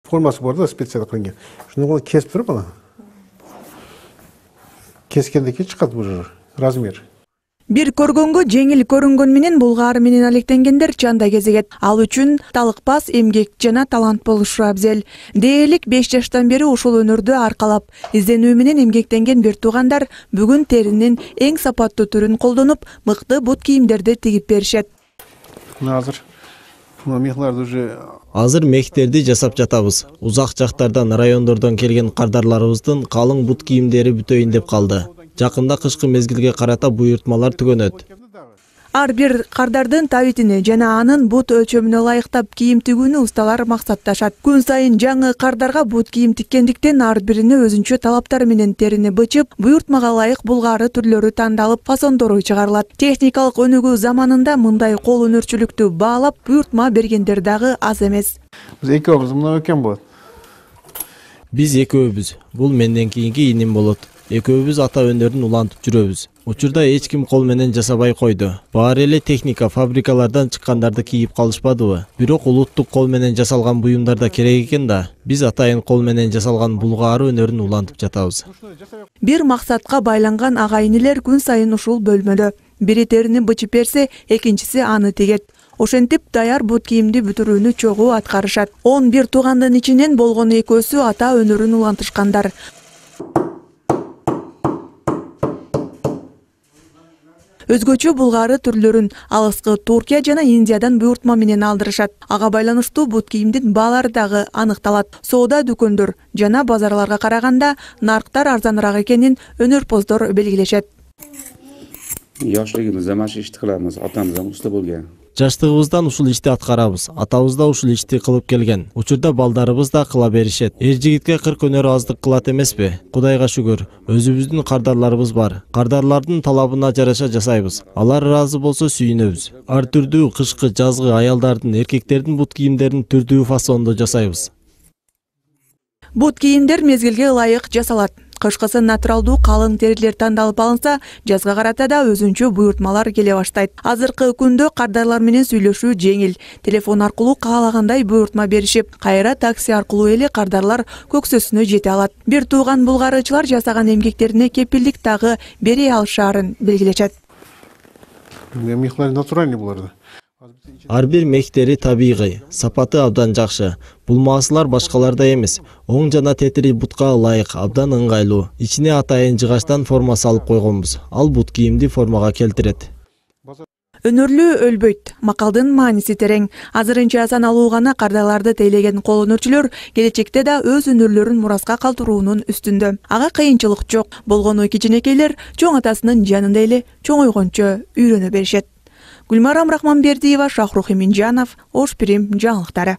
Формасы бар да, специалдык кылынган. Шуну кесип туруп ана. Кескенден кийин чыгат бул размер. Бир көргөнгө жеңил көрүнгөн менен булгаары менен алектенгендер чанда кезегет. Ал үчүн талыкпас, эмгек жана талант болушу абзел. Дээрлик 5 жаштан бери ушул өнөрдү аркалап, изденүү менен эмгектенген бир туугандар бүгүн теринин эң сапаттуу түрүн колдонуп, мыкты бут кийимдерди тигип беришет. Азыр мехтерди жасап жатабыз. Узак жактардан, райондордон келген кардарларыбыздын калың бут кийимдери бүтөйүн деп калды. Жакында кышкы мезгилге карата буйртмалар түгөнөт. Ар бир кардардын табитине жана анын бут өлчөмүнө ылайыктап кийим тигүүнү усталар максатташат. Күн сайын жаңы кардарга бут кийим тиккендиктен ар бирине өзүнчө талаптары менен терини бычып, буйртмага ылайык булгаары түрлөрү тандалып, фасондору чыгарылат. Техникалык өнүгүү заманында мындай кол өнөрчүлүктү баалап, буйртма бергендер дагы аз эмес. Биз экөөбүз мына экен болот. Биз экөөбүз. Бул менден кийинки иним болот. Экөөбүз ата өнөрүн улантып жүрөбүз. Учурда эч ким кол менен жасабай койду. Баары эле техника, фабрикалардан чыккандарды кийип калышпадыбы? Бирок улуттук кол менен жасалган буюмдар да керек экен да. Биз атайын кол менен жасалган булгаары өнөрүн улантып жатабыз. Бир максатка байланган ага-инилер күн сайын ушул бөлмөдө. Бири терини бычып берсе, экинчиси аны тигет. Ошентип даяр бут кийимди бүтүрүүнү чогуу аткарышат. 11 туугандын ичинен болгону экөөсү ата өнөрүн улантышкандар. Өзгөчө булгаары түрлөрүн алыскы Туркия жана Индиядан буйртма менен алдырышат. Ага байланыштуу бут кийимдин баалары дагы аныкталат. Соода дүкөндөр жана базарларга караганда нарктар арзаныраак экенин өнөрпоздор белгилешет. Yoshligimizda mana shu ishni qilamiz. Otamiz ham usta bo'lgan. Жаштыгыбыздан ушул ишти аткарабыз. Атабыз да ушул ишти кылып келген. Учурда балдарыбыз да кыла беришет. Эр жигитке 40 өнөр аздык кылат эмеспи? Кудайга шүгүр. Өзүбүздүн кардарларыбыз бар. Кардарлардын талабына жараша жасайбыз. Алар ыраазы болсо сүйүнөбүз. Ар түрдүү кышкы, жазгы аялдардын, эркектердин бут кийимдерин түрдүү фасондо жасайбыз. Бут кийимдер мезгилге ылайык жасалат. Кышкысы натуралдуу калың терилер тандалып алынса, жазга карата да өзүнчө буйртмалар келе баштайт. Азыркы күндө кардарлар менен сүйлөшүү жеңил. Телефон аркылуу каалагандай буйртма беришип, кайра такси аркылуу эле кардарлар көксөсүнө жете алат. Бир тууган булгаарычылар жасаган эмгектерине кепилдик дагы бере алышаарын белгилешет. Мехлар натуральный буларды. Ар бир мехтери табигый, сапаты абдан жакшы. Булмаасылар башкалардай эмес. Оң жана тетири бутка ылайык, абдан ыңгайлуу. Ичине атайын жыгачтан форма салып койгонбуз. Ал бут кийимди формага келтирет. Өнөрлүү өлбөйт. Макалдын мааниси терең. Азырынча саналуу гана кардарларды тейлеген кол өнөрчүлөр келечекте да өз өнөрлөрүн мураска калтыруунун үстүндө. Ага кыйынчылык жок. Болгону кичинекейлер чоң атасынын жанында эле чоңойгончо үйрөнө беришет. Гүлмарам Рахманбердиева, Шахрух Эминжанов, Ош Пирим жаңылыктары.